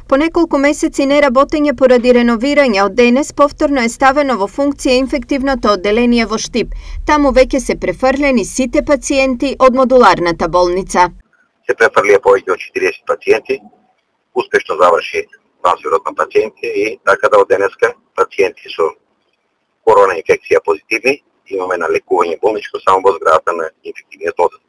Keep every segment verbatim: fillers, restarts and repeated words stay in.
По неколку месеци неработење поради реновирање, од денес повторно е ставено во функција инфективното одделение во Штип. Таму веќе се префрлени сите пациенти од модуларната болница. Се префрлија повеќе од четириесет пациенти, успешно заврши трансферот на пациенти и така да од денеска пациенти со корона инфекција позитивни имаме на лекување болничко само во зградата на инфективниот оддел.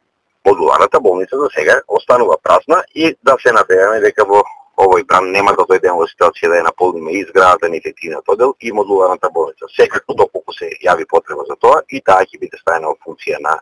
Модуларната болница за сега останува празна и да се надеваме дека во овој бран нема да дојдеме во ситуација да ја наполниме и зградата на инфективниот оддел и модуларната болница. Секако доколку се јави потреба за тоа и таа ќе биде ставена во функција на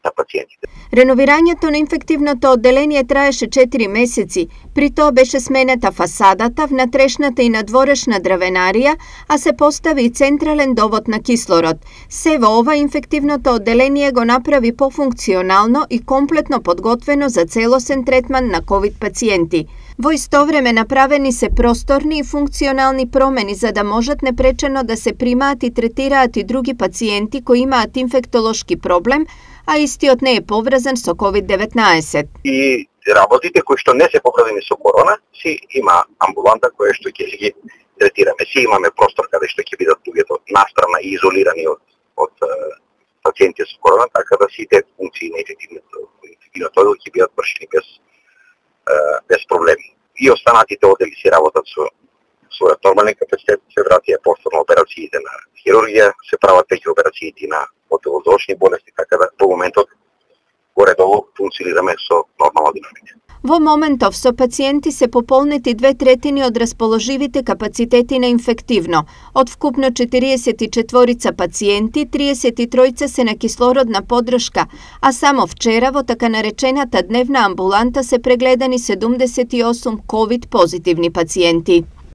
на пациентите. Реновирањето на инфективното одделение траеше четири месеци. При тоа беше сменета фасадата, внатрешната и надворешна дравенарија, а се постави и централен довод на кислород. Се во ова инфективното одделение го направи пофункционално и комплетно подготвено за целосен третман на ковид пациенти. Во исто време направени се просторни и функционални промени за да можат непречено да се примаат и третираат и други пациенти кои имаат инфектолошки проблем, а истиот не е поврзан со ковид деветнаесет. И работите кои што не се поврзани со корона, си има амбуланта која што ќе ги третираме. Си имаме простор каде што ќе бидат луѓето настрана и изолирани од од пациенти со корона, така да сите функции на инфективното оддел ќе бидат вршени без без проблеми. И останатите оддели си работат со својот нормален капацитет, се вратија повторно операциите на хирургија, се прават веќе операциите на отделозочни болести, така да во моментот горе-долу функционираме со нормална динамика. Во моментов со пациенти се пополнети две третини од расположивите капацитети на инфективно. Од вкупно четириесет и четворица пациенти, триесет и тројца се на кислородна поддршка, а само вчера во така наречената дневна амбуланта се прегледани седумдесет и осум ковид позитивни пациенти.